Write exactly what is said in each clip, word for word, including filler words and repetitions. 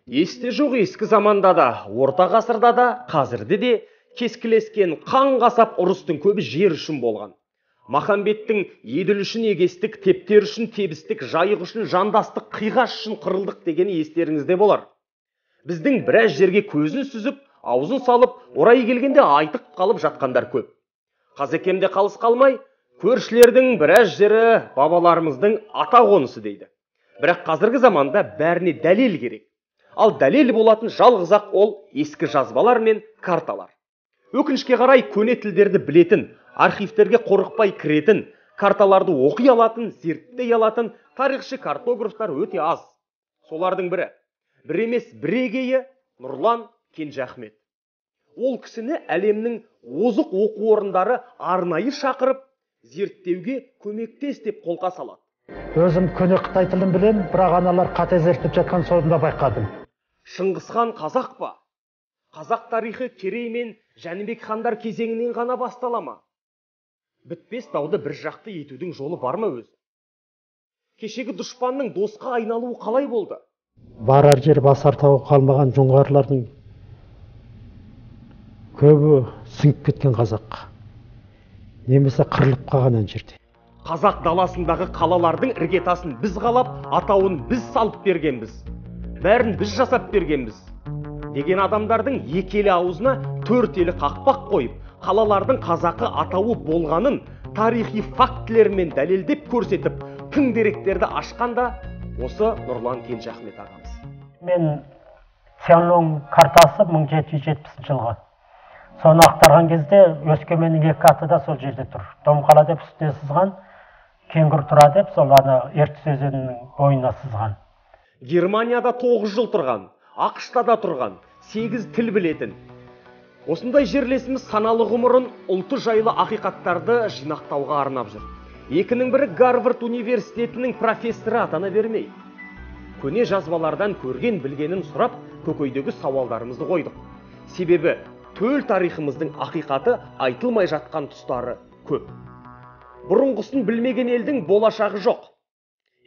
Есте жоқ ескі заманда да, орта ғасырда да, қазірде де кескілескен қан қасап ұрыстың көбі жер үшін болған. Махамбеттің еділ үшін егестік, тептер үшін тебістік, жайық үшін жандастық, қиғаш үшін қырылдық дегені естеріңізде болар. Біздің біраз жерге көзін сүзіп, аузын салып, орай келгенде айтық қалып жатқандар көп. Қазекемде қалыс қалмай, көршілердің біраз жері бабаларымыздың ата қонысы дейді. Бірақ қазіргі заманда бәріне дәлел керек. Ал дәлел болатын жалғыз-ақ ол ескі жазбалар мен карталар. Өкінішке қарай көне тілдерді білетін, архивтерге қорықпай кіретін, карталарды оқи алатын, зерттей алатын тарихшы картографтар өте аз. Солардың бірі, бір емес бірегейі Нұрлан Кенжахмет. Ол кісіні әлемнің озық оқу орындары арнайы шақырып, зерттеуге көмектес деп қолқа салады. Өзім көне Қытай тілін білем, бірақ аналар қате зерттеп жатқан соңында байқадым. Шыңғысхан қазақ па? Қазақ тарихы Керей мен Жәнібек хандар кезеңінен ғана басталама? Бітпес дауды бір жақты етудің жолы бар ма өзі? Кешегі дұшпанның досқа айналуы қалай болды? Барар жер басар тауы қалмаған жоңғарлардың көбі сіңіп кеткен қазаққа, немесе қырылып қалған жерде. Қазақ даласындағы қалалардың іргетасын біз қалап, атауын біз салып бергенбіз. Бәрін біз жасап бергенбіз. Деген адамдардың екелі аузына төрт елі қақпақ қойып, қалалардың қазақы атауы болғанын тарихи фактілермен дәлелдеп көрсетіп, тың деректерді ашқанда осы Нұрлан Кенжахмет ағамыз. Мен Цянлун картасы мың жеті жүз жетпісінші жылғы. Соны ақтарған кезде Өскеменнің екі аты да сол жерде тұр. Домқала деп үстіне сызған, Кеңгір тұра деп сол ана Ертіс өзенінің бойына сызған. Германияда тоғыз жыл тұрған, ақшта да тұрған, сегіз тіл білетін. Осындай жерлесіміз саналы ғұмырын ұлты жайлы ақиқаттарды жинақтауға арнап жүр. Екінің бірі Гарвард университетінің профессоры атана бермей. Көне жазбалардан көрген білгенін сұрап, көкейдегі сауалдарымызды қойдық. Себебі төл тарихымыздың ақиқаты айтылмай жатқан тұстары көп. Бұрынғысын білмеген елдің болашағы жоқ.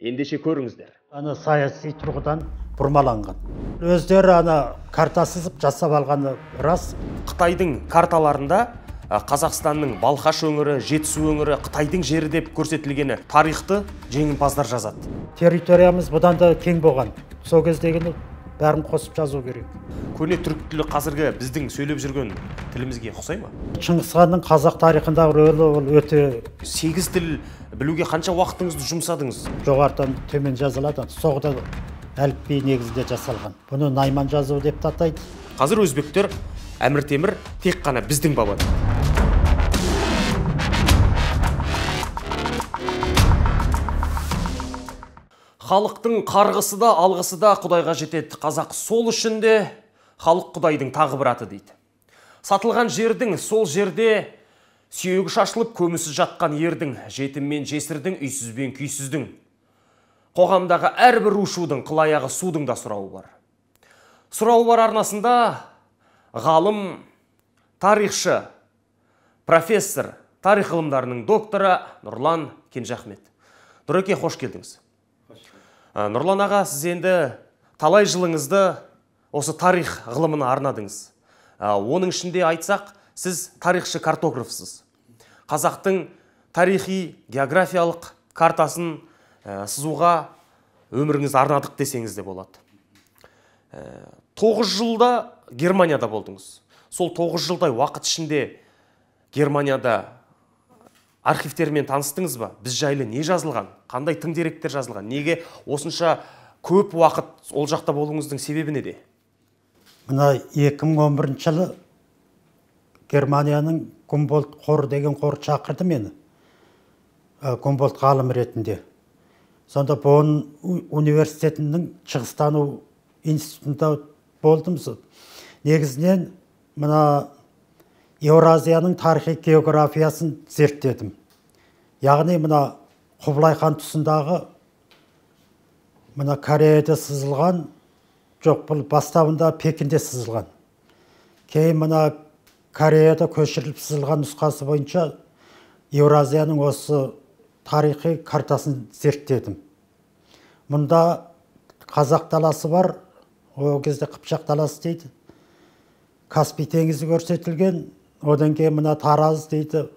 Ендеше көріңіздер. Ана саяси тұрғыдан бұрмаланған. Өздері ана карта сызып жасап алғаны рас. Қытайдың карталарында Қазақстанның Балқаш өңірі, Жетісу өңірі, Қытайдың жері деп көрсетілгені тарихты жеңімпаздар жазады. Территориямыз бұдан да кең болған. Сол кездегіні бәрін қосып жазу керек. Көне түрік тілі қазіргі біздің сөйлеп жүрген тілімізге ұқсай ма? Шыңғысханның қазақ тарихындағы рөлі ол өте. Сегіз тіл білуге қанша уақытыңызды жұмсадыңыз? Жоғарыдан төмен жазылады. Соғда әліпби негізінде жасалған. Бұны Найман жазуы деп атайды. Қазір өзбектер Әмір Темір тек қана біздің бабадан. Халықтың қарғысы да, алғысы да Құдайға жетеді. Қазақ сол үшін де халық Құдайдың тағы бір аты дейді. Сатылған жердің, сол жерде сүйегі шашылып көмісіз жатқан ердің, жетім мен жесірдің, үйсіз бен күйсіздің, қоғамдағы әрбір ушудың, қылаяғы судың да сұрауы бар. Сұрауы бар арнасында ғалым, тарихшы, профессор, тарих ғылымдарының докторы Нұрлан Кенжахмет. Нұреке, қош келдіңіз. Нұрлан аға, сіз енді талай жылыңызды осы тарих ғылымына арнадыңыз. Оның ішінде айтсақ, сіз тарихшы картографсыз. Қазақтың тарихи, географиялық картасын сызуға өміріңіз арнадық десеңіз де болады. Тоғыз жылда Германияда болдыңыз. Сол тоғыз жылдай уақыт ішінде Германияда архивтермен таныстыңыз ба? Біз жайлы не жазылған? Қандай тың деректер жазылған? Неге осынша көп уақыт ол жақта болуыңыздың себебі неде? Мына екі мың он бірінші жылы Германияның Гумбольдт қоры деген қор шақырды мені. Гумбольдт ғалым ретінде. Сонда Бонн университетінің шығыстану институтында болдым. Негізінен мына Еуразияның тарихи географиясын зерттедім. Яғни мына Құбылай хан тұсындағы мына Кореяда сызылған, жоқ, бұл бастауында Пекинде сызылған. Кейін мына Кореяда көшіріліп сызылған нұсқасы бойынша Еуразияның осы тарихи картасын зерттедім. Мұнда қазақ даласы бар, Ол кезде Қыпшақ даласы дейді. Каспий теңізі көрсетілген, одан кейін мына Тараз дейді,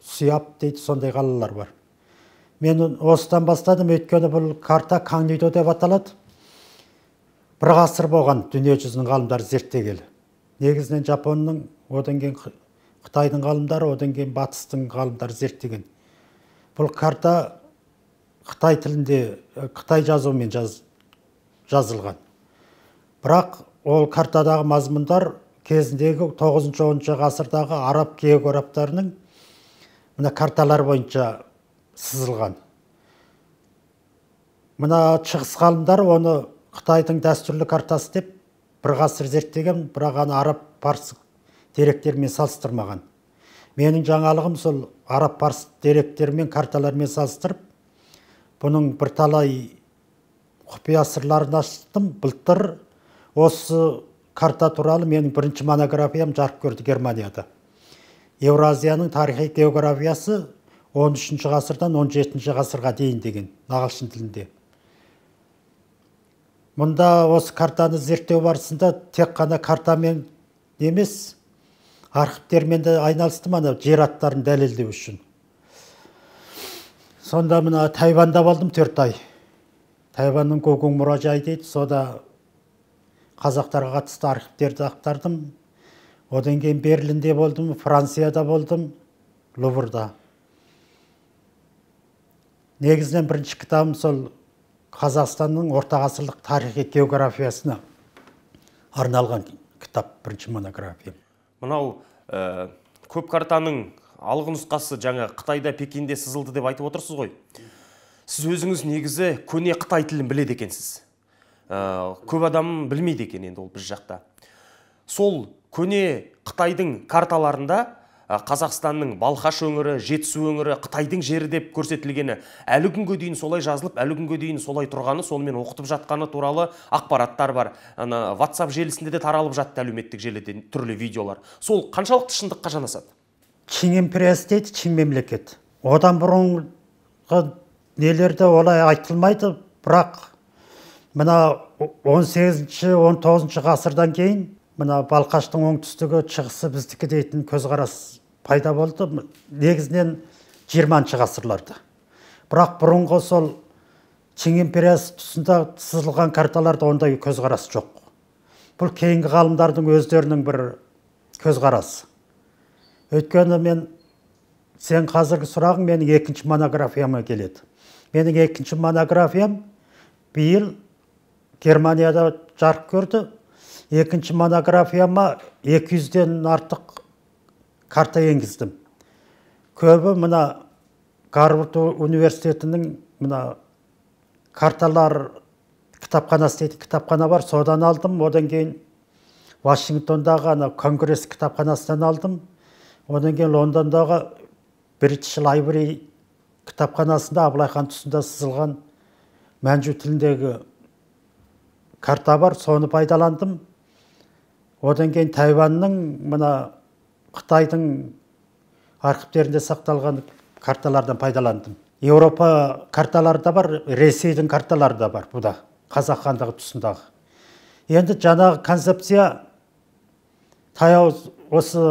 Сүйап дейді, сондай қалалар бар. Мен осыдан бастадым, өйткені бұл карта Каңнидо деп аталады. Бір ғасыр болған дүние жүзінің ғалымдары зерттегелі. Негізінен Жапонның, одан кейін Қытайдың ғалымдары, одан кейін Батыстың ғалымдары зерттеген. Бұл карта Қытай тілінде, Қытай жазуымен жаз, жазылған. Бірақ ол картадағы мазмұндар кезіндегі тоғызыншы оныншы ғасырдағы араб географтарының мына карталар бойынша сызылған. Мына шығыс ғалымдар оны Қытайдың дәстүрлі картасы деп бір ғасыр зерттеген, бірақ аны араб парсы деректермен салыстырмаған. Менің жаңалығым сол араб парсы деректермен карталармен салыстырып, бұның бірталай құпия сырларын аштым. Былтыр осы карта туралы менің бірінші монографиям жарық көрді Германияда. Еуразияның тарихи географиясы он үшінші ғасырдан он жетінші ғасырға дейін деген ағылшын тілінде. Мұнда осы картаны зерттеу барысында тек қана картамен емес, архивтермен де айналыстым, ана жер аттарын дәлелдеу үшін. Сонда мына Тайванда болдым төрт ай. Тайванның Гогуң мұражайы дейді, сода қазақтарға қатысты архивтерді ақтардым. Одан кейін Берлинде болдым, Францияда болдым, Луврда. Негізінен бірінші кітабым сол Қазақстанның орта ғасырлық тарихи географиясына арналған кітап, бірінші монография. Мынау ә, көп картаның алғы нұсқасы жаңа Қытайда, Пекинде сызылды деп айтып отырсыз ғой. Сіз өзіңіз негізі көне Қытай тілін біледі екенсіз. Ә, көп адам білмейді екен енді ол біз жақта. Сол көне Қытайдың карталарында Қазақстанның Балқаш өңірі, Жетісу өңірі, Қытайдың жері деп көрсетілгені, әлі күнге дейін солай жазылып, әлі күнге дейін солай тұрғаны, сонымен оқытып жатқаны туралы ақпараттар бар. Ана WhatsApp желісінде де таралып жатты, әлеуметтік желіде түрлі видеолар. Сол қаншалықты шындыққа жанасады? Чин империясы дейді, Чин мемлекет. Одан бұрынғы нелерде олай айтылмайды, бірақ мына он сегізінші он тоғызыншы ғасырдан кейін мына Балқаштың оңтүстігі, шығысы біздікі дейтін көзқарас пайда болды. Негізінен жиырманшы ғасырларда. Бірақ бұрынғы сол Чин империясы тұсында сызылған карталарда ондай көзқарас жоқ. Бұл кейінгі ғалымдардың өздерінің бір көзқарасы. Өйткені мен, сен қазіргі сұрағың менің екінші монографияма келеді. Менің екінші монографиям биыл Германияда жарық көрді. Екінші монографияма екі жүзден артық карта енгіздім. Көбі мына Гарвард университетінің мына карталар кітапханасы дейді, кітапхана бар, содан алдым. Одан кейін Вашингтондағы ана конгресс кітапханасынан алдым. Одан кейін Лондондағы British Library кітапханасында Абылай хан тұсында сызылған Мәнжу тіліндегі карта бар, соны пайдаландым. Одан кейін Тайванның, мына Қытайдың архивтерінде сақталған карталардан пайдаландым. Еуропа карталары да бар, Ресейдің карталары да бар, бұда Қазақ хандығы тұсындағы. Енді жаңағы концепция таяу осы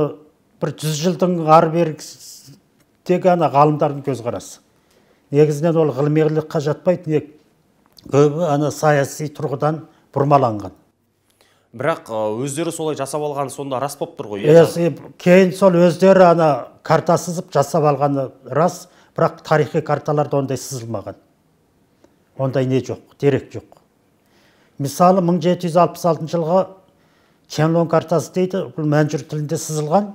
бір жүз жылдың ары берідегі ана ғалымдардың көзқарасы. Негізінен ол ғылымилыққа жатпайды, көбі ана саяси тұрғыдан бұрмаланған. Бірақ өздері солай жасап алған сонда рас болып тұр ғой. Кейін сол өздері ана карта сызып жасап алғаны рас, бірақ тарихи карталарда ондай сызылмаған. Ондай не жоқ, дерек жоқ. Мысалы, мың жеті жүз алпыс алтыншы жылғы Ченлон картасы дейді, бұл Мәнжүр тілінде сызылған.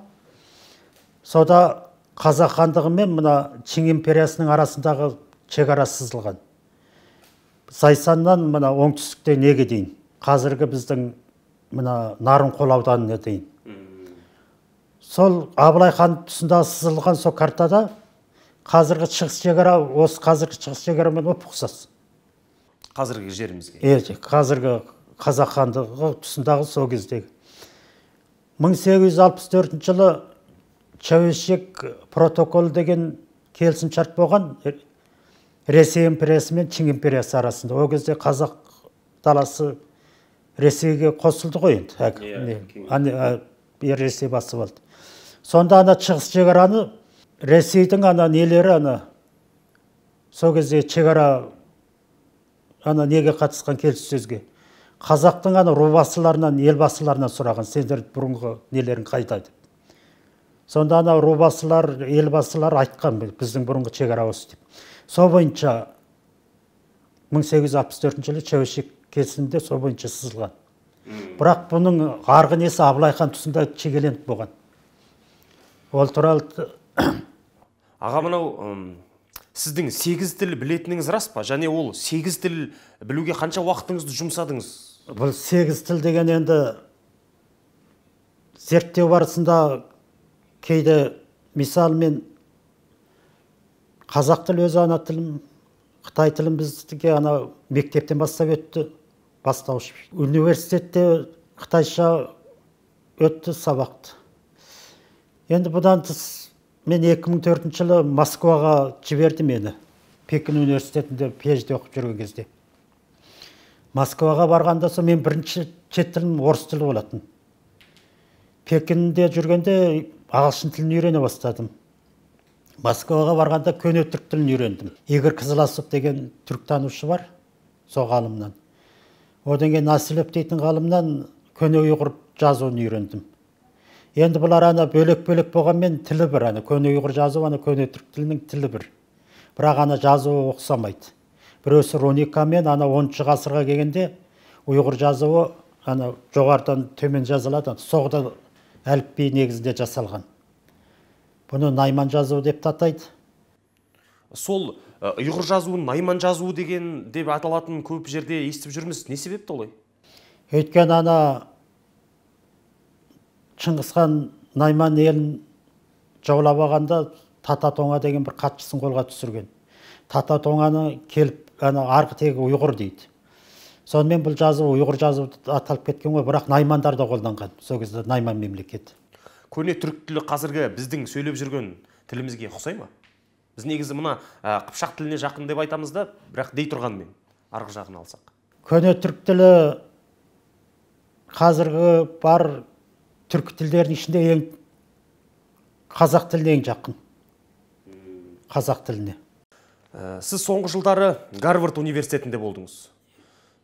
Сода Қазақ хандығы мен мына Чин империясының арасындағы шекара сызылған. Зайсаннан мына оңтүстікте неге дейін, қазіргі біздің мына Нарынқол ауданына дейін. Сол Абылай хан тұсында сызылған сол картада қазіргі шығыс шекара, осы қазіргі шығыс шекарамен ұқсас. Қазіргі жерімізге. Е, қазіргі Қазақ хандығы тұсындағы сол кездегі. мың сегіз жүз алпыс төртінші жылы Чәуешек протокол деген келісімшарт болған Ресей империясы мен Чин империясы арасында. Ол кезде Қазақ даласы Ресейге қосылды ғой енді. Әк- Иә, не, кеңес. ане, ә, е, Ресей басып алды. Сонда ана шығыс шекараны Ресейдің ана нелері ана сол кезде шекара ана неге қатысқан келіссөзге қазақтың ана рубасыларынан елбасыларынан сұраған, сендер бұрынғы нелерің қайда деп. Сонда ана рубасылар елбасылар айтқан, біздің бұрынғы шекара осы деп. Сол бойынша мың сегіз жүз алпыс төртінші жылы Чәуешек келісімінде сол бойынша сызылған. Бірақ бұның арғы несі Абылай хан тұсында шегеленіп болған. Ол туралы Аға, мынау ым, сіздің сегіз тіл білетініңіз рас па? Және ол сегіз тіл білуге қанша уақытыңызды жұмсадыңыз? бұл сегіз тіл деген енді зерттеу барысында кейде мисал мен қазақ тілі өзі ана тілім, Қытай тілін біздіге ана мектептен бастап өтті, бастауыш. Университетте қытайша өтті сабақты. Енді бұдан тыс мен екі мың төртінші жылы Москваға жіберді мені. Пекин университетінде пи-эйч-ди оқып жүрген кезде. Москваға барғанда сол мен бірінші шет тілім орыс тілі болатын. Пекинде жүргенде ағылшын тілін үйрене бастадым. Москваға барғанда көне түрік тілін үйрендім. Игорь Кызыласов деген түріктанушы бар, сол ғалымнан. Одан кейін Насилев дейтін ғалымнан көне ұйғыр жазуын үйрендім. Енді бұлар ана бөлек-бөлек болғанмен тілі бір, ана көне ұйғыр жазуы, ана көне түрік тілінің тілі бір. Бірақ ана жазуы ұқсамайды. Біреусі руникамен ана оныншы ғасырға келгенде ұйғыр жазуы ана жоғарыдан төмен жазылады, соғды әліпби негізінде жасалған. Бұны Найман жазуы деп атайды. Сол ы, ұйғыр жазуын Найман жазуы деген деп аталатын көп жерде естіп жүрміз. Не себепті олай? Өйткені ана Шыңғысхан Найман елін жаулап алғанда Тата-Тоңа деген бір хатшысын қолға түсірген. Тата-Тоңаны келіп, ана арғы тегі ұйғыр дейді. Сонымен бұл жазу ұйғыр жазуы аталып кеткен ғой, бірақ Наймандар да қолданған. Сол кезде Найман мемлекеті. Көне түрік тілі қазіргі біздің сөйлеп жүрген тілімізге ұқсай ма? Біз негізі мына ә, қыпшақ тіліне жақын деп айтамыз да, бірақ дей тұрғанмен арғы жағын алсақ. Көне түрік тілі қазіргі бар түркі тілдердің ішінде ең қазақ тіліне ең жақын. Қазақ тіліне. Ә, сіз соңғы жылдары Гарвард университетінде болдыңыз.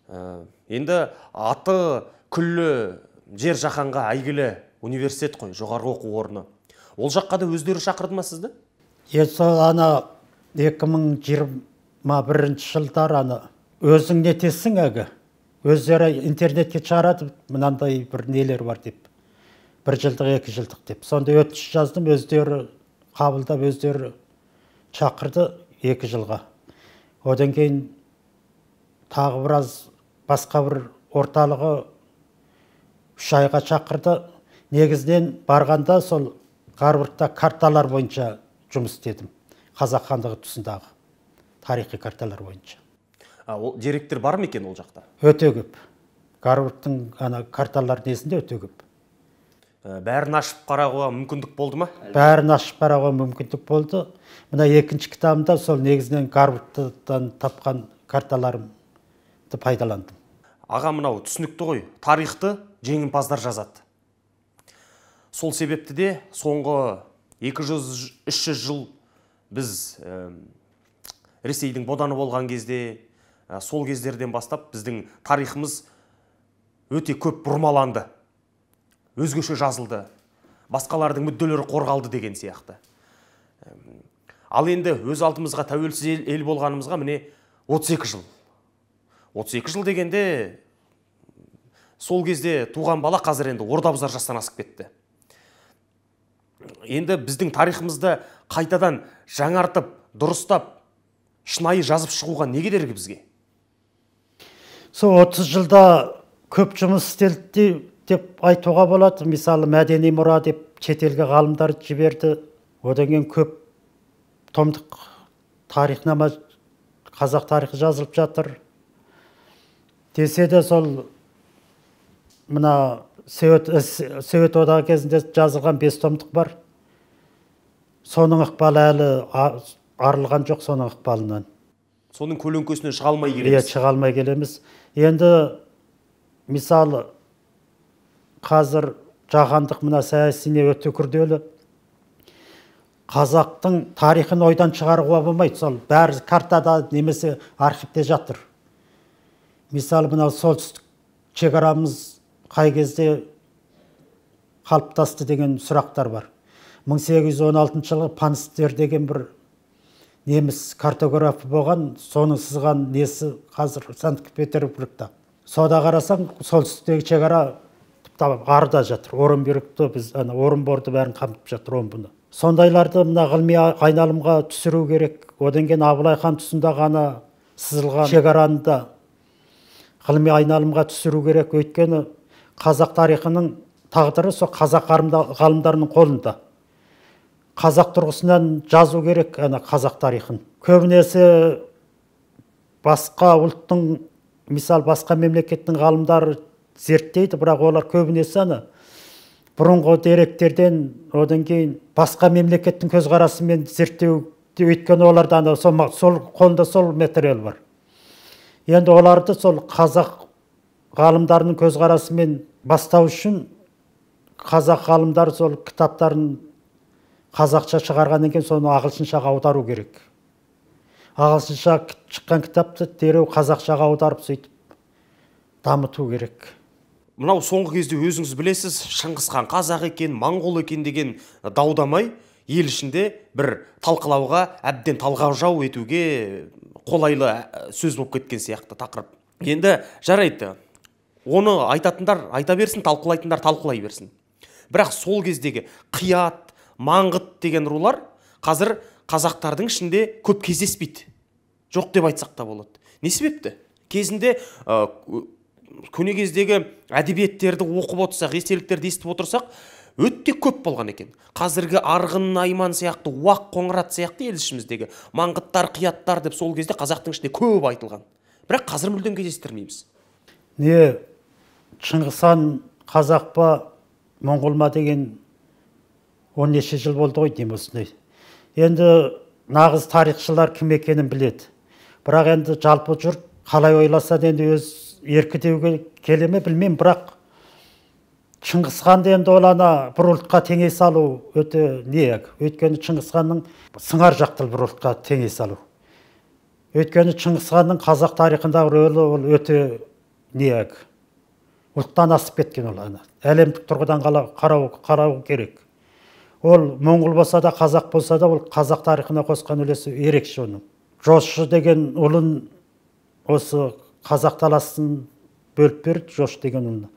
Ә, енді аты күллі жер жаһанға әйгілі университет қой, жоғарғы оқу орны. Ол жаққа да өздері шақырды ма сізді? Есі ана екі мың жиырма бірінші жылдар ана өзің нетесің әгі. Өздері интернетке шығарады, мынандай бір нелер бар деп. Бір жылдық, екі жылдық деп. Сонда өтініш жаздым, өздері қабылдап, өздері шақырды екі жылға. Одан кейін тағы біраз басқа бір орталығы үш айға шақырды. Негізінен барғанда сол Гарвардта карталар бойынша жұмыс істедім. Қазақ хандығы тұсындағы тарихи карталар бойынша. А, ол деректер бар ма екен ол жақта? Өте көп. Гарвардтың ана карталар несінде өте көп. Ә, бәрін ашып қарауға мүмкіндік болды ма? Бәрін ашып қарауға мүмкіндік болды. Мына екінші кітабымда сол негізінен Гарвардтан тапқан карталарымды пайдаландым. Аға, мынау түсінікті ғой, тарихты жеңімпаздар жазады. Сол себепті де соңғы екі жүз үш жүз жыл біз ә, Ресейдің боданы болған кезде, ә, сол кездерден бастап біздің тарихымыз өте көп бұрмаланды. Өзгеше жазылды. Басқалардың мүдделері қорғалды деген сияқты. Ә, ал енді өз алдымызға тәуелсіз ел, ел болғанымызға міне отыз екі жыл. отыз екі жыл дегенде сол кезде туған бала қазір енді орда бұзар жастан асып кетті. Енді біздің тарихымызды қайтадан жаңартып, дұрыстап, шынайы жазып шығуға не кедергі бізге? Сол отыз жылда көп жұмыс істелді деп айтуға болады. Мысалы, мәдени мұра деп шетелге ғалымдар жіберді. Одан кейін көп томдық тарихнама, қазақ тарихы жазылып жатыр. Десе де сол мына Совет одағы кезінде жазылған бес томдық бар. Соның ықпалы әлі арылған жоқ, соның ықпалынан. Соның көлеңкесінен шыға алмай Иә, келеміз. шыға алмай келеміз. Енді мысалы қазір жаһандық мына саясине өте күрделі. Қазақтың тарихын ойдан шығаруға болмайды. Сол бәрі картада немесе архивте жатыр. Мысалы мына солтүстік шекарамыз қай кезде қалыптасты деген сұрақтар бар. мың сегіз жүз он алтыншы жылы Панстер деген бір неміс картографы болған, соның сызған несі қазір Санкт-Петербургта. Сода қарасаң, солтүстіктегі шекара арда жатыр. Орынборды біз, ана Орынборды бәрін қамтып жатыр омбыны. Сондайларды мына ғылыми айналымға түсіру керек. Одан кейін Абылай хан тұсында ғана сызылған шекараны да ғылыми айналымға түсіру керек. Өйткені қазақ тарихының тағдыры сол қазақ ғалымдарының қолында. Қазақ тұрғысынан жазу керек ана қазақ тарихын. Көбінесе басқа ұлттың, мисал басқа мемлекеттің ғалымдары зерттейді, бірақ олар көбінесе ана бұрынғы деректерден, одан кейін басқа мемлекеттің көзқарасымен зерттеу, өйткені оларда ана сол қолында сол материал бар. Енді оларды сол қазақ ғалымдарының көзқарасымен бастау үшін қазақ ғалымдары сол кітаптарын қазақша шығарғаннан кейін соны ағылшыншаға аудару керек. Ағылшынша шыққан кітапты дереу қазақшаға аударып сөйтіп дамыту керек. Мынау соңғы кезде өзіңіз білесіз, Шыңғыс хан қазақ екен, моңғол екен деген даудамай ел ішінде бір талқылауға, әбден талғажау етуге қолайлы сөз болып кеткен сияқты тақырып. Енді жарайды, оны айтатындар айта берсін, талқылайтындар талқылай берсін. Бірақ сол кездегі Қият, Маңғыт деген рулар қазір қазақтардың ішінде көп кездеспейді. Жоқ деп айтсақ та болады. Не себепті? Кезінде ә, көне кездегі әдебиеттерді оқып отырсақ, естеліктерді естіп отырсақ, өте көп болған екен. Қазіргі Арғын, Найман сияқты, Уақ, Қоңырат сияқты ел ішіміздегі Маңғыттар, Қияттар деп сол кезде қазақтың ішінде көп айтылған. Бірақ қазір мүлдем кездестірмейміз. Не Шыңғыс хан қазақ па, моңғол ма деген он неше жыл болды ғой деймін осындай. Енді нағыз тарихшылар кім екенін біледі. Бірақ енді жалпы жұрт қалай ойласа да енді өз еркі деуге келе ме білмеймін, бірақ Шыңғыс ханды енді ол ана бір ұлтқа теңей салу өте не? Өйткені Шыңғыс ханның сыңар жақтыл бір ұлтқа теңей салу. Өйткені Шыңғыс ханның қазақ тарихындағы рөлі ол өте не? Ұлттан асып кеткен ол ана. Әлемдік тұрғыдан қарау, қарау керек. Ол моңғол болса да, қазақ болса да, ол қазақ тарихына қосқан үлесі ерекше оның. Жошы деген ұлын осы қазақ таласын бөліп берді, Жош деген ұлын.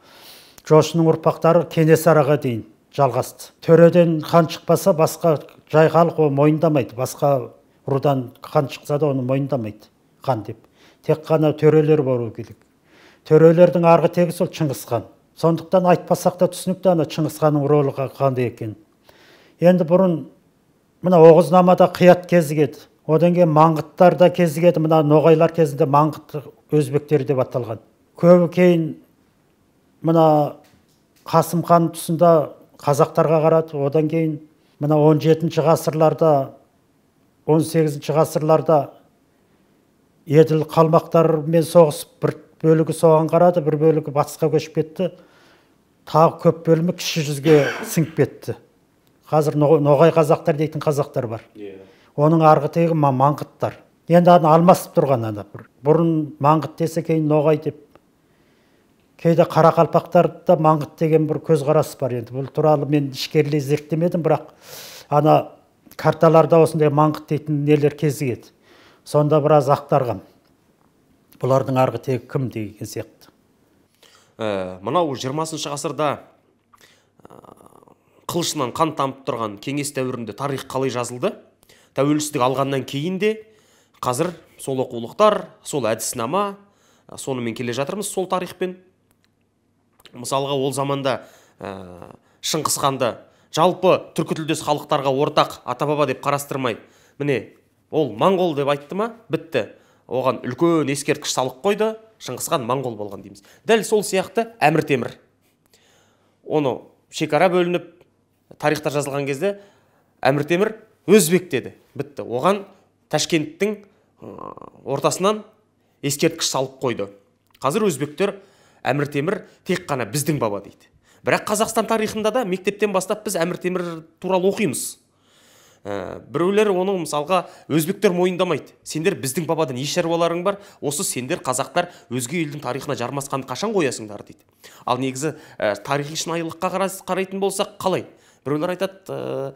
Жошының ұрпақтары Кенесарыға дейін жалғасты. Төреден хан шықпаса, басқа жай халық оны мойындамайды. Басқа рудан хан шықса да оны мойындамайды хан деп. Тек қана төрелер болу керек. Төрелердің арғы тегі сол Шыңғыс хан. Сондықтан айтпасақ та түсінікті ана Шыңғыс ханның рөлі қандай екен. Енді бұрын мына Оғызнамада Қият кезігеді. Одан кейін Маңғыттар да кезігеді. Мына ноғайлар кезінде Маңғыт өзбектері деп аталған. Көбі кейін мына Қасым хан тұсында қазақтарға қарады. Одан кейін мына он жетінші ғасырларда, он сегізінші ғасырларда Еділ қалмақтармен соғысып, бір бөлігі соған қарады, бір бөлігі батысқа көшіп кетті. Тағы көп бөлімі кіші жүзге сіңіп кетті. Қазір ноғай қазақтар дейтін қазақтар бар. Оның арғы тегі Маңғыттар. Енді аны алмасып тұрған ана бір. Бұрын Маңғыт десе, кейін ноғай деп. Кейде қарақалпақтарда Маңғыт деген бір көзқарас бар енді. Бұл туралы мен ішкерлей зерттемедім, бірақ ана карталарда осындай Маңғыт дейтін нелер кезігеді. Сонда біраз ақтарғам. Бұлардың арғы тегі кім деген сияқты. Ә, мынау жиырмасыншы ғасырда қылышынан қан тамып тұрған кеңес дәуірінде тарих қалай жазылды? Тәуелсіздік алғаннан кейін де қазір сол оқулықтар, сол әдіснама, сонымен келе жатырмыз сол тарихпен. Мысалға ол заманда ә, Шыңғыс ханды жалпы түркітілдес халықтарға ортақ ата-баба деп қарастырмай, міне ол моңғол деп айтты ма, бітті. Оған үлкен ескерткіш салып қойды, Шыңғыс хан моңғол болған дейміз. Дәл сол сияқты Әмір Темір. Оны шекара бөлініп, тарихта жазылған кезде Әмір Темір өзбек деді, бітті. Оған Ташкенттің ортасынан ескерткіш салып қойды. Қазір өзбектер Әмір Темір тек қана біздің баба дейді. Бірақ Қазақстан тарихында да мектептен бастап біз Әмір Темір туралы оқимыз. Ә, біреулер оны мысалға өзбектер мойындамайды. Сендер біздің бабадан не шаруаларың бар, осы сендер қазақтар өзге елдің тарихына жармасқанды қашан қоясыңдар дейді. Ал негізі ә, тарихи шынайылыққа қарайтын болсақ қалай? Біреулер айтады, ә,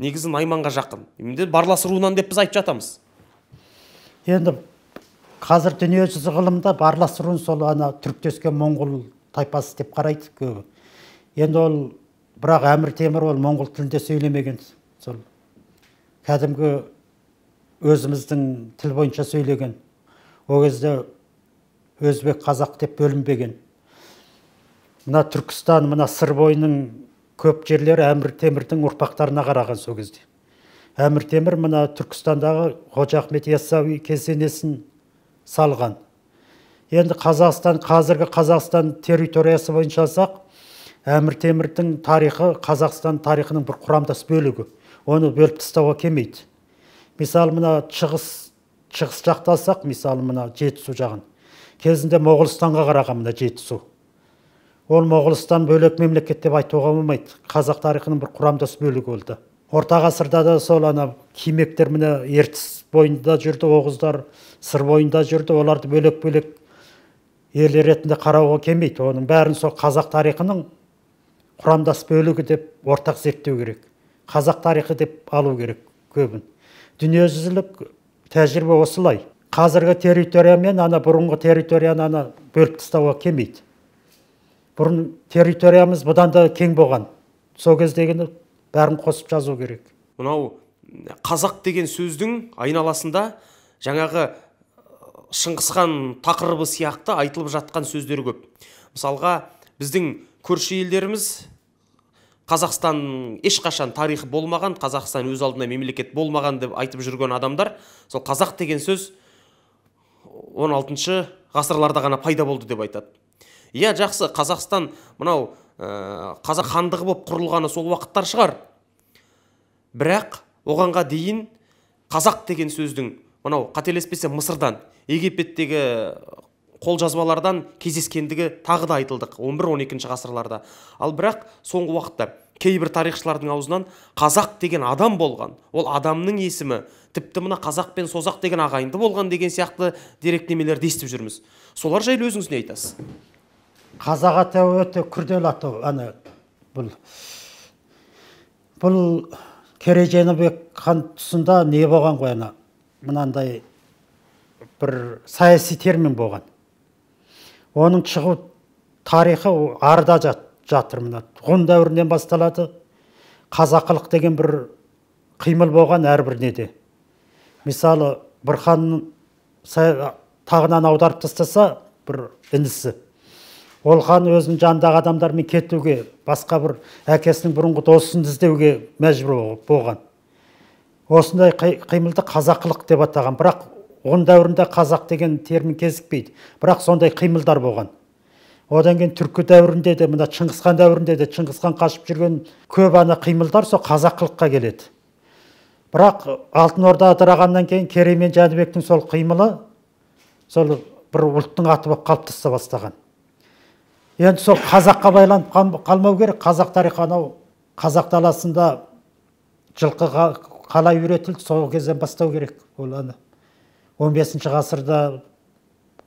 негізі Найманға жақын. Енді барлас руынан деп біз айтып жатамыз. Енді қазір дүниежүзі ғылымда барлас руын сол ана түріктескен моңғол тайпасы деп қарайды көбі. Енді ол бірақ Әмір Темір ол моңғол тілінде сөйлемеген, сол кәдімгі өзіміздің тіл бойынша сөйлеген. О кезде өзбек қазақ деп бөлінбеген. Мына Түркістан, мына сыр бойының көп жерлері Әмір Темірдің ұрпақтарына қараған сол кезде. Әмір Темір мына Түркістандағы Қожа Ахмет Яссауи кесенесін салған. Енді Қазақстан, қазіргі Қазақстан территориясы бойынша алсақ, Әмір Темірдің тарихы Қазақстан тарихының бір құрамдас бөлігі. Оны бөліп тастауға келмейді. Мысалы, мына шығыс, шығыс жақта алсақ, мысалы, мына Жетісу жағын. Кезінде Моғолстанға қараған мына Жетісу. Ол Моғолстан бөлек мемлекет деп айтуға болмайды. Қазақ тарихының бір құрамдас бөлігі болды. Орта ғасырда да сол ана кимектер міне Ертіс бойында жүрді, Оғыздар сыр бойында жүрді. Оларды бөлек-бөлек ел ретінде қарауға келмейді. Оның бәрін сол қазақ тарихының құрамдас бөлігі деп ортақ зерттеу керек. Қазақ тарихы деп алу керек көбін. Дүниежүзілік тәжірибе осылай. Қазіргі территория мен ана бұрынғы территорияны ана бөліп тастауға келмейді. Бұрын территориямыз бұдан да кең болған. Сол кездегіні бәрін қосып жазу керек. Мынау қазақ деген сөздің айналасында жаңағы Шыңғысхан тақырыбы сияқты айтылып жатқан сөздер көп. Мысалға, біздің көрші елдеріміз Қазақстан ешқашан тарихы болмаған, Қазақстан өз алдына мемлекет болмаған деп айтып жүрген адамдар, сол қазақ деген сөз он алтыншы ғасырларда ғана пайда болды деп айтады. Иә, жақсы, Қазақстан мынау ә, қазақ хандығы болып құрылғаны сол уақыттар шығар. Бірақ оғанға дейін қазақ деген сөздің мынау қателеспесе Мысырдан, Египеттегі қолжазбалардан кездескендігі тағы да айтылдық он бір он екінші ғасырларда. Ал бірақ соңғы уақытта кейбір тарихшылардың аузынан қазақ деген адам болған, ол адамның есімі тіпті мына қазақ пен созақ деген ағайынды болған деген сияқты деректемелерді естіп жүрміз. Солар жайлы өзіңіз не айтасыз? Қазақ атауы өте күрделі атау. Ана бұл бұл Керей Жәнібек хан тұсында не болған ғой, ана мынандай бір саяси термин болған. Оның шығу тарихы арда жат, жатыр мына. Ғұн дәуірінен басталады. Қазақылық деген бір қимыл болған әрбір неде. Мысалы, бір хан тағынан аударып тастаса, бір інісі. Ол хан өзінің жанындағы адамдармен кетуге, басқа бір әкесінің бұрынғы досын іздеуге мәжбүр болған. Осындай қимылды қазақылық деп атаған. Бірақ ғұн дәуірінде қазақ деген термин кезікпейді. Бірақ сондай қимылдар болған. Одан кейін түркі дәуірінде де, мына Шыңғысхан дәуірінде де, Шыңғысхан қашып жүрген көп ана қимылдар сол қазақылыққа келеді. Бірақ Алтын Орда ыдырағаннан кейін Керей мен Жәнібектің сол қимылы сол бір ұлттың аты болып қалыптаса бастаған. Енді сол қазаққа байланып қалмау керек. Қазақ тарихы анау қазақ даласында жылқы қалай үйретілді, сол кезден бастау керек. Ол ана он бесінші ғасырда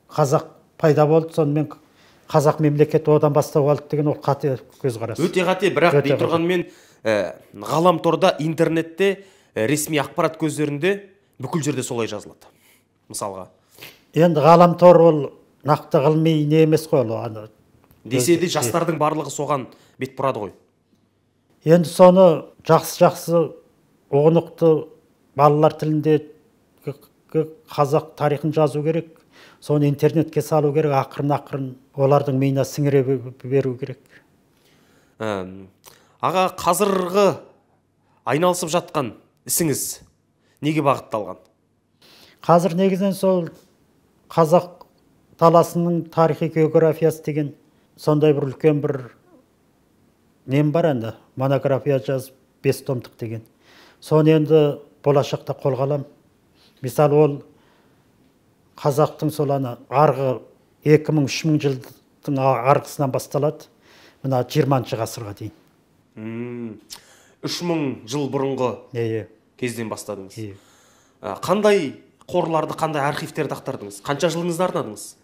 қазақ пайда болды, сонымен қазақ мемлекеті одан бастау алды деген ол қате көзқарас. Өте қате, бірақ дей тұрғанмен ғаламторда, интернетте, ресми ақпарат көздерінде бүкіл жерде солай жазылады. Мысалға. Енді ғаламтор ол нақты ғылыми не емес қой, ол десе де жастардың барлығы соған бет бұрады ғой. Енді соны жақсы-жақсы ұғынықты балалар тілінде қазақ тарихын жазу керек. Соны интернетке салу керек, ақырын-ақырын олардың миына сіңіре беру керек. Аға, қазіргі айналысып жатқан ісіңіз неге бағытталған? Қазір негізінен сол қазақ даласының тарихи географиясы деген сондай бір үлкен бір нем бар енді, монография жазып бес томдық деген. Соны енді болашақта қолға аламын. Мысалы, ол қазақтың сол ана арғы екі мың үш мың жыл ғасырдың арғысынан басталады, мына жиырманшы ғасырға дейін. үш мың жыл бұрынғы Иә, кезден бастадыңыз. иә. Қандай қорларды, қандай архивтерді ақтардыңыз? Қанша жылыңызды арнадыңыз?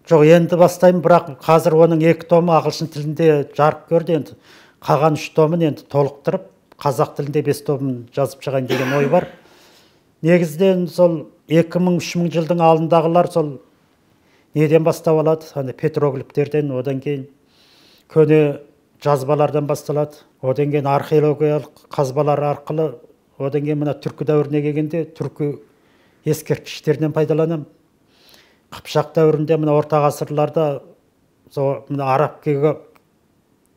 Жоқ, енді бастаймын, бірақ қазір оның екі томы ағылшын тілінде жарық көрді. Енді қалған үш томын енді толықтырып, қазақ тілінде бес томын жазып шығайын деген ой бар. Негізден сол екі мың үш мың жылдың алдындағылар сол неден бастап алады? Аны петроглифтерден, одан кейін көне жазбалардан басталады. Одан кейін археологиялық қазбалар арқылы, одан кейін мына түркі дәуіріне келгенде түркі ескерткіштерінен пайдаланамын. Қыпшақ дәуірінде мына орта ғасырларда мына араб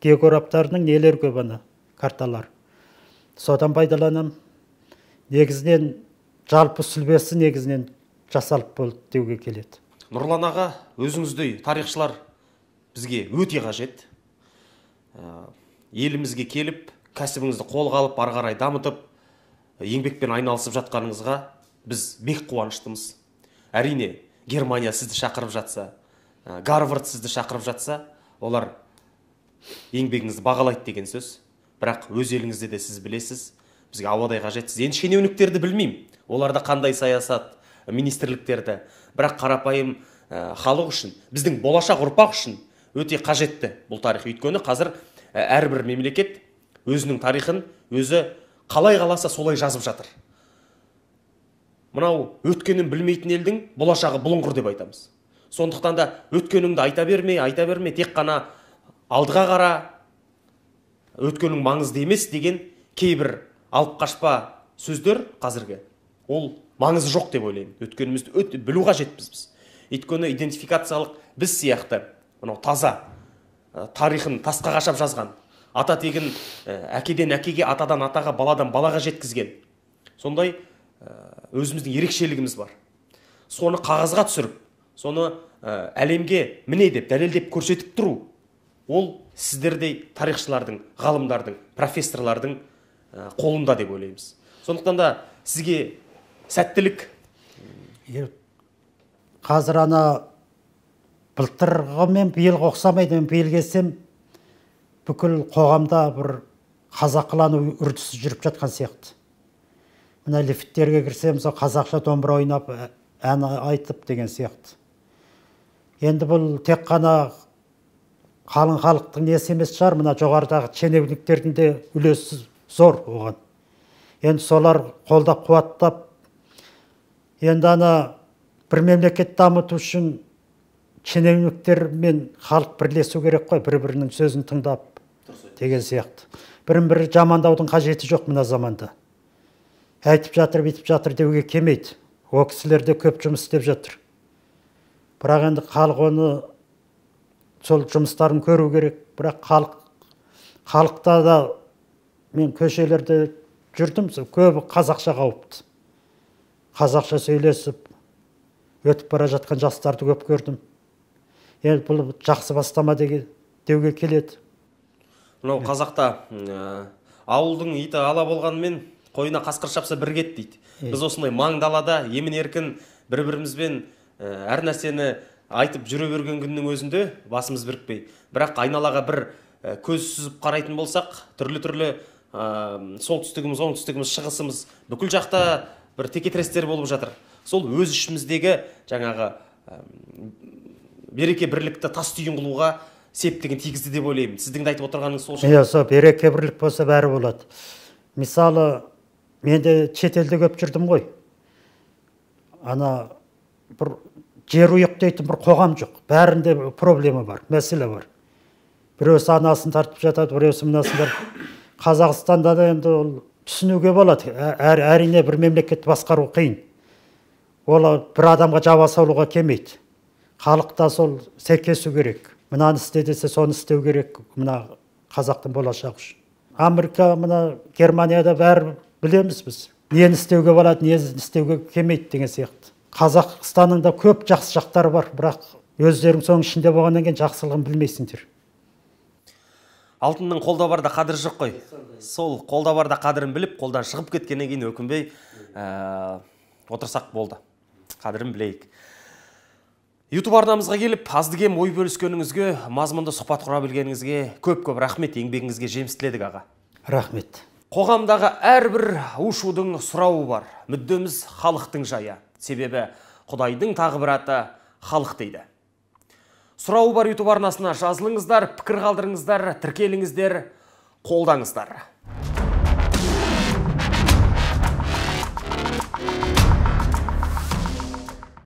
географтарының нелер көп, ана карталар. Содан пайдаланамын. Негізінен жалпы сүлбесі негізінен жасалып болды деуге келеді. Нұрлан аға, өзіңіздей тарихшылар бізге өте қажет. Елімізге келіп, кәсібіңізді қолға алып, ары қарай дамытып, еңбекпен айналысып жатқаныңызға біз бек қуаныштымыз. Әрине, Германия сізді шақырып жатса, Гарвард сізді шақырып жатса, олар еңбегіңізді бағалайды деген сөз. Бірақ өз еліңізде де сіз білесіз, бізге ауадай қажетсіз. Енді шенеуніктерді білмеймін, оларда қандай саясат, министрліктерді. Бірақ қарапайым халық үшін, біздің болашақ ұрпақ үшін өте қажетті бұл тарих. Өйткені қазір әрбір мемлекет өзінің тарихын өзі қалай қаласа солай жазып жатыр. Мынау өткенін білмейтін елдің болашағы бұлыңғыр деп айтамыз. Сондықтан да өткеніңді айта берме, айта берме, тек қана алдыға қара, өткенің маңызды емес деген кейбір алып қашпа сөздер қазіргі. Ол маңызы жоқ деп ойлаймын. Өткенімізді өте білу қажетпіз біз. Өйткені идентификациялық біз сияқты, мынау таза тарихын тасқа қашап жазған, ата тегін әкеден әкеге, атадан атаға, баладан балаға жеткізген. Сондай өзіміздің ерекшелігіміз бар. Соны қағазға түсіріп, соны әлемге міне деп дәлелдеп көрсетіп тұру, ол сіздердей тарихшылардың, ғалымдардың, профессорлардың қолында деп ойлаймыз. Сондықтан да сізге сәттілік. Қазір ана былтырғы мен биылғы ұқсамайды. Мен биыл келсем, бүкіл қоғамда бір қазақылану үрдісі жүріп жатқан сияқты. Мына лифттерге кірсем, сол қазақша домбыра ойнап, ән айтып деген сияқты. Енді бұл тек қана қалың халықтың несі емес шығар, мына жоғарыдағы шенеуніктердің де үлесі зор оған. Енді солар қолдап қуаттап, енді ана бір мемлекет дамыту үшін шенеуніктер мен халық бірлесу керек қой, бір-бірінің сөзін тыңдап деген сияқты. Бірін-бірі жамандаудың қажеті жоқ мына заманда. Айтып жатыр, битіп жатыр деуге келмейді. О кісілер де көп жұмыс істеп жатыр. Бірақ енді халық оны сол жұмыстарын көру керек. Бірақ халық халықта да мен көшелерде жүрдім, көбі қазақша қауіпті. Қазақша сөйлесіп, өтіп бара жатқан жастарды көп көрдім. Енді бұл жақсы бастама деуге келеді. Мынау қазақта ауылдың иті ала болғанымен қойына қасқыр шапса бір кет дейді. Біз осындай маң далада емін еркін бір-бірімізбен әр нәрсені айтып жүре берген күннің өзінде басымыз бірікпей. Бірақ айналаға бір көз сүзіп қарайтын болсақ, түрлі-түрлі солтүстігіміз, оңтүстігіміз, шығысымыз бүкіл жақта бір текетірестер болып жатыр. Сол өз ішіміздегі жаңағы береке бірлікті тас түйін қылуға септігін тигізді деп ойлаймын. Сіздің де айтып отырғаныңыз сол шығар. Иә, сол береке бірлік болса бәрі болады. Мысалы, мен де шетелде көп жүрдім ғой. Ана бір жер ұйық дейтін бір қоғам жоқ. Бәрінде проблема бар, мәселе бар. Біреусі анасын тартып жатады, біреусі мынасын тартып. Қазақстанда да енді ол түсінуге болады. Әрине бір мемлекетті басқару қиын. Ол бір адамға жаба салуға келмейді. Халықта сол сәйкесу керек. Мынаны істе десе соны істеу керек. Мына қазақтың болашағы үшін. Америка, мына Германияда бәрі білеміз біз. Нені істеуге болады, нені істеуге келмейді деген сияқты. Қазақстанның да көп жақсы жақтары бар, бірақ өздерің соның ішінде болғаннан кейін жақсылығын білмейсіңдер. Алтынның қолда барда қадірі жоқ қой. Сол қолда барда қадірін біліп, қолдан шығып кеткеннен кейін өкінбей отырсақ болды. Қадірін білейік. YouTube арнамызға келіп, аздыгем ой бөліскеніңізге, мазмұнды сұхбат құра білгеніңізге көп-көп рахмет, еңбегіңізге жеміс тіледік аға. Рахмет. Қоғамдағы әрбір ушудың сұрауы бар. Мүддеміз халықтың жайы. Себебі Құдайдың тағы бір аты халық дейді. Сұрауы бар YouTube арнасына жазылыңыздар, пікір қалдырыңыздар, тіркеліңіздер, қолдаңыздар.